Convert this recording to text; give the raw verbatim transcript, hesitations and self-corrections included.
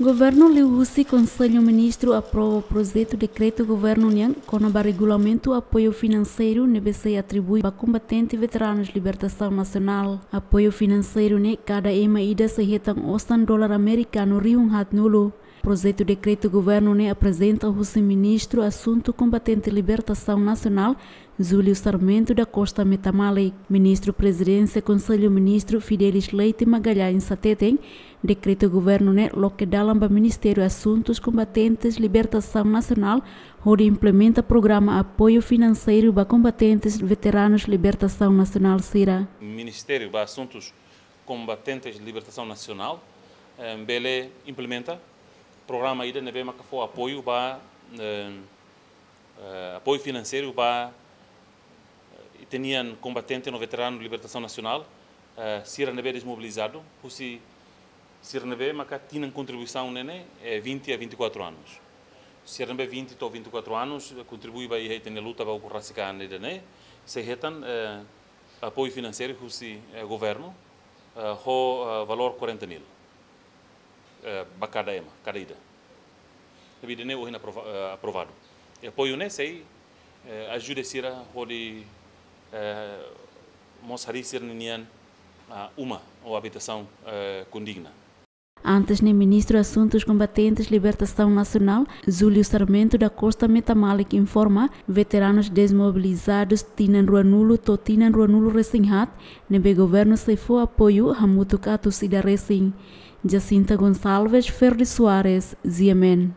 Governu liuhusi Konsellu Ministru aprova projetu dekretu governu nian kona-ba regulamentu apoiu finanseiru ne'ebé sei atribui ba kombatente veteranus libertasaun nasionál. Apoiu finanseiru ne'e kada ema ida sei hetan osan dolar amerikanu rihun haat-nulu. Projetu dekretu governu ne'e aprezenta husi Ministru Asuntu Kombatente Libertasaun Nasionál, Júlio Sarmento da Costa Metamalik. Ministru Prezidénsia Konsellu Ministru Fidelis Leite Magalhães hateten, dekretu governu ne'e loke dalan ba Ministériu Asuntus Kombatentes Libertasaun Nasionál, hodi implementa programa apoiu finanseiru ba kombatentes veteranus libertasaun nasionál sira. Ministériu ba Asuntus Kombatentes Libertasaun Nasionál, eh, bele implementa programa ida ne'ebé maka fó apoiu ba, eh, eh, apoiu finanseiru ba, eh, ita-nian kombatente no veteranu libertasaun nasionál, eh, sira ne'ebé desmobilizadu, husi sira ne'ebé maka tinan kontribuisaun ne'e ne'e, eh, vinte a vinte e quatro anos. Sira ne'ebé vinte to'o vinte e quatro anos, eh, kontribui ba iha ita-nia luta ba ukun rasik an ida-ne'e, sei hetan, eh, apoiu finanseiru husi, eh, governu, eh, ho, eh, valór quarenta mil, eh, ba kada ema, kada ida. Ne'ebé ida-ne'e ohin aprova-, eh, aprovadu. I apoiu ne'e sei, eh, ajuda sira hodi, eh, mós harii sira-nian, ah, uma ou habitasaun, eh, kondigna. Antes ne'e, Ministru Asuntus Kombatentes Libertasaun Nasionál, Júlio Sarmento da Costa Metamalik informa, veteranus desmobilizadus tinan ruanulu to'o tinan ruanulu-resin-haat, ne'ebé governu sei fó apoiu hamutuk atus ida resin. Jacinta Gonçalves, Ferdi Soares, G M N.